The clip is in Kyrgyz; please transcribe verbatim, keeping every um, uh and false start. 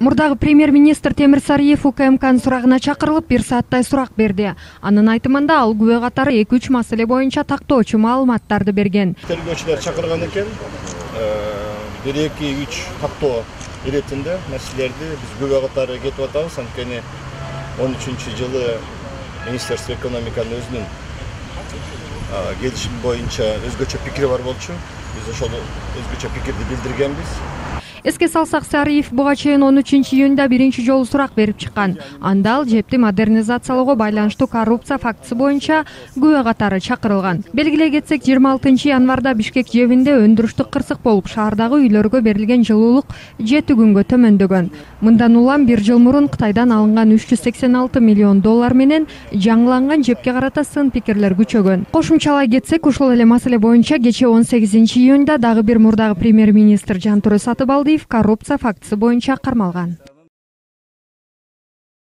Мурдагы премьер-министр Темир Сариев УКМКнын сурагына чакырылып бир сааттай сурак берди. Анын айтымында ал күбө катары эки үч маселе боюнча тактоочу маалыматтарды берген. Тергөөчүлөр чакырган экен. бир эки үч тактоо иретинде маселелерди биз күбө катары кетип атабыз. Анткени он үчүнчү жылы Министерство экономиканын өзүнүн келишим боюнча өзгөчө пикири бар болчу. Биз ошол өзгөчө пикирди билдиргенбиз. Эске салсак, Сариев буга чейин он үчүнчү июнда биринчи жолу сурак берип чыккан. Анда ал жепти модернизациялоого байланыштуу коррупция фактысы боюнча күбө катары чакырылган. Белгилей кетсек, жыйырма алтынчы январда Бишкек жебинде өндүрүштүк кырсык болуп, шаардагы үйлөргө берилген жылуулук жети күнгө төмөндөгөн. Мындан улам бир жыл мурун Кытайдан алынган үч жүз сексен алты миллион доллар менен жаңыланган жепке карата сын пикирлер күчөгөн. Кошумчалай кетсек, ушул эле маселе боюнча кечээ он сегизинчи июнда дагы бир мурдагы премьер-министр Жантөрө Сатыбалдиев коррупция фактысы боюнча кармалган.